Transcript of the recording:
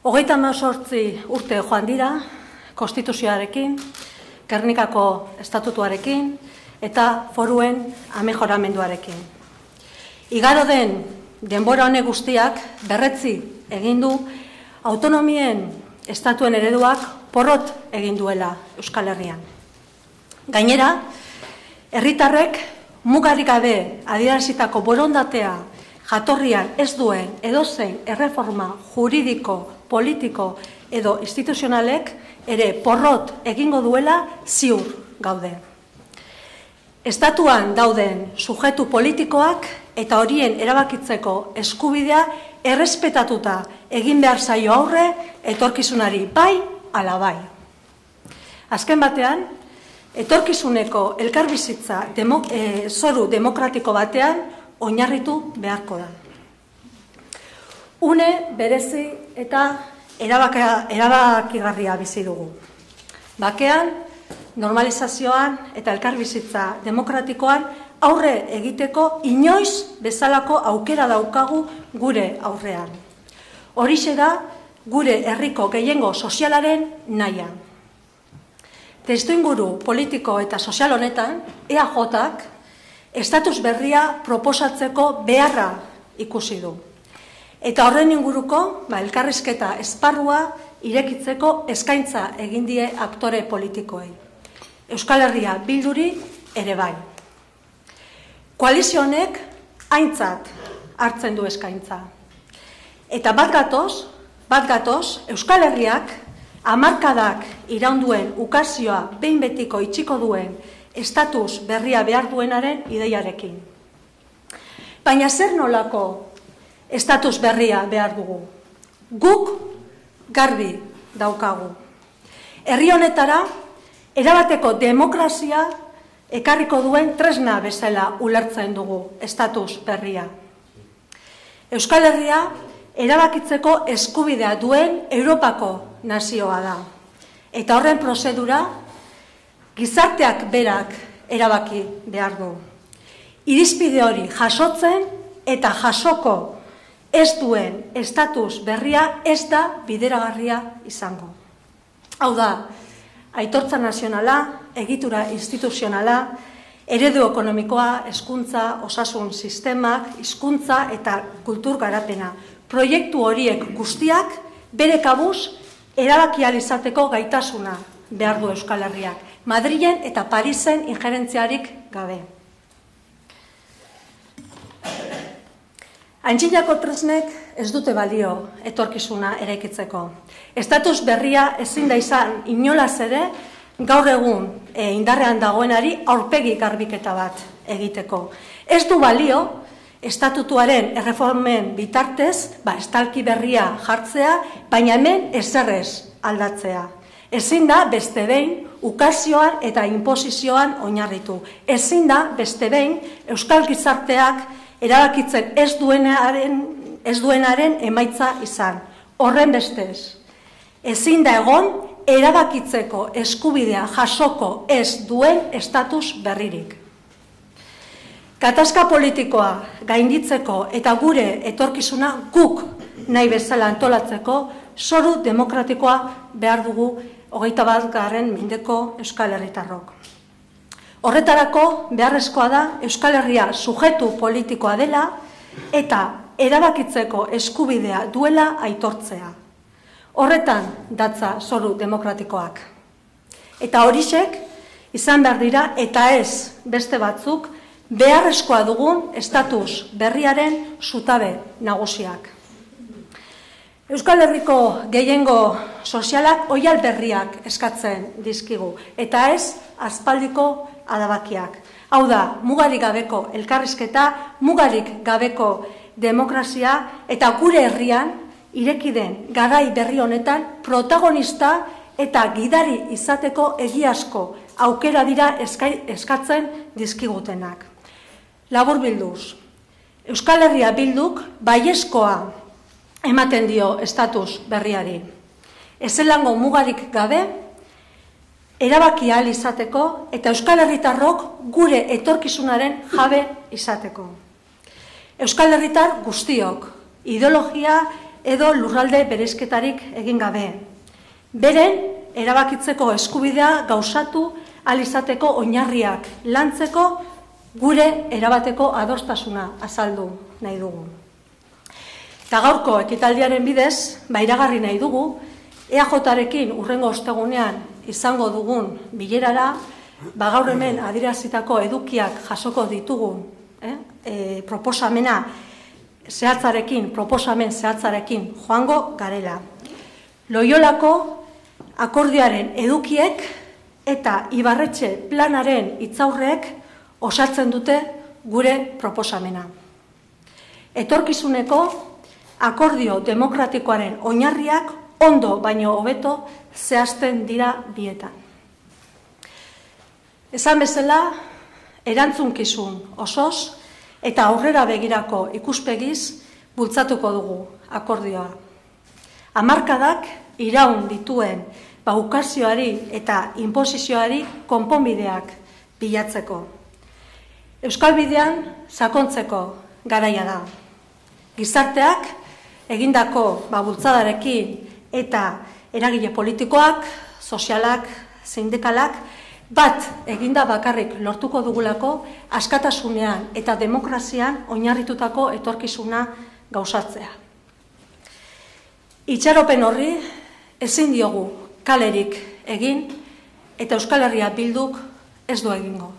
38 urte joan dira, konstituzioarekin, Gernikako estatutuarekin eta foruen amejoramenduarekin. Igaro den denbora honek guztiak berretzi egin du autonomien estatuen ereduak porrot egin duela Euskal Herrian. Gainera, herritarrek mugarik gabe adierazitako borondatea jatorrian ez duen edozein erreforma juridiko, politiko edo instituzionalek ere porrot egingo duela ziur gaude. Estatuan dauden sujetu politikoak eta horien erabakitzeko eskubidea errespetatuta egin behar zaio aurre etorkizunari bai ala bai. Azken batean, etorkizuneko elkarbizitza zoru demokratiko batean oinarritu beharko da. Une berezi eta erabakigarria bizi dugu. Bakean, normalizazioan eta elkarbizitza demokratikoan aurre egiteko inoiz bezalako aukera daukagu gure aurrean. Horixe da gure herriko gehiengo sozialaren nahia. Testuinguru politiko eta sozial honetan, EAJak estatus berria proposatzeko beharra ikusi du. Eta horren inguruko elkarrizketa esparrua irekitzeko eskaintza egin die aktore politikoei. Euskal Herria Bilduri ere bai. Koalizio honek aintzat hartzen du eskaintza. Eta bat gatoz, Euskal Herriak hamarkadak iraunduen ukazioa behin betiko itxiko duen estatus berria behar duenaren ideiarekin. Baina zer nolako estatus berria behar dugu? Guk garbi daukagu. Herri honetara erabateko demokrazia ekarriko duen tresna bezala ulertzen dugu estatus berria. Euskal Herria erabakitzeko eskubidea duen Europako nazioa da. Eta horren prozedura gizarteak berak erabaki behar du. Irizpide hori jasotzen eta jasoko ez duen estatus berria ez da bideragarria izango. Hau da, aitortza nazionala, egitura instituzionala, eredu ekonomikoa, hezkuntza, osasun sistemak, hizkuntza eta kultur garapena. Proiektu horiek guztiak bere kabuz erabaki ahal izateko gaitasuna behar du Euskal Herriak. Madrilen eta Parisen injerentziarik gabe. Antzinako tresnek ez dute balio etorkizuna eraikitzeko. Estatus berria ezin da izan inolaz ere gaur egun indarrean dagoenari aurpegi garbiketa bat egiteko. Ez du balio estatutuaren erreformen bitartez estalki berria jartzea, baina hemen ezerrez aldatzea. Ezin da beste behin ukazioan eta inposizioan oinarritu. Ezin da beste behin euskal gizarteak erabakitzen ez duenaren emaitza izan. Horren bestez, ezin da egon erabakitzeko eskubidea jasoko ez duen estatus berririk. Gatazka politikoa gainditzeko eta gure etorkizuna guk nahi bezala antolatzeko zoru demokratikoa behar dugu 21. mendeko Euskal Herritarrok. Horretarako beharrezkoa da Euskal Herria sujetu politikoa dela eta erabakitzeko eskubidea duela aitortzea. Horretan datza zoru demokratikoak. Eta horixek izan behar dira eta ez beste batzuk beharrezkoa dugun estatus berriaren zutabe nagusiak. Euskal Herriko gehiengo sozialak oihal berriak eskatzen dizkigu eta ez aspaldiko adabakiak. Hau da, mugarik gabeko elkarrizketa, mugarik gabeko demokrazia eta gure herrian ireki den garai berri honetan protagonista eta gidari izateko egiazko aukera dira eskatzen dizkigutenak. Laburbilduz, Euskal Herria Bilduk baiezkoa ematen dio estatus berriari. Ezelango mugarik gabe, erabaki ahal izateko eta Euskal Herritarrok gure etorkizunaren jabe izateko. Euskal Herritar guztiok, ideologia edo lurralde bereizketarik egin gabe. Beren erabakitzeko eskubidea gauzatu ahal izateko oinarriak lantzeko gure erabateko adostasuna azaldu nahi dugu. Eta gaurko ekitaldiaren bidez, iragarri nahi dugu, EAJarekin hurrengo ostegunean izango dugun bilerara, gaur hemen adierazitako edukiak jasoko ditugun proposamen zehatzarekin joango garela. Loiolako akordioaren edukiek eta Ibarretxe planaren hitzaurreek osatzen dute gure proposamena. Etorkizuneko akordio demokratikoaren oinarriak ondo baino hobeto zehazten dira bietan. Esan bezala, erantzunkizun osoz eta aurrera begirako ikuspegiz bultzatuko dugu akordioa. Hamarkadak iraun dituen ukazioari eta inposizioari konponbideak bilatzeko. Euskal bidean sakontzeko garaia da. Gizarteak egindako bultzadarekin eta eragile politikoak, sozialak, sindikalak, bat eginda bakarrik lortuko dugulako askatasunean eta demokrazian oinarritutako etorkizuna gauzatzea. Itxaropen horri ezin diogu kalerik egin eta Euskal Herria Bilduk ez du egingo.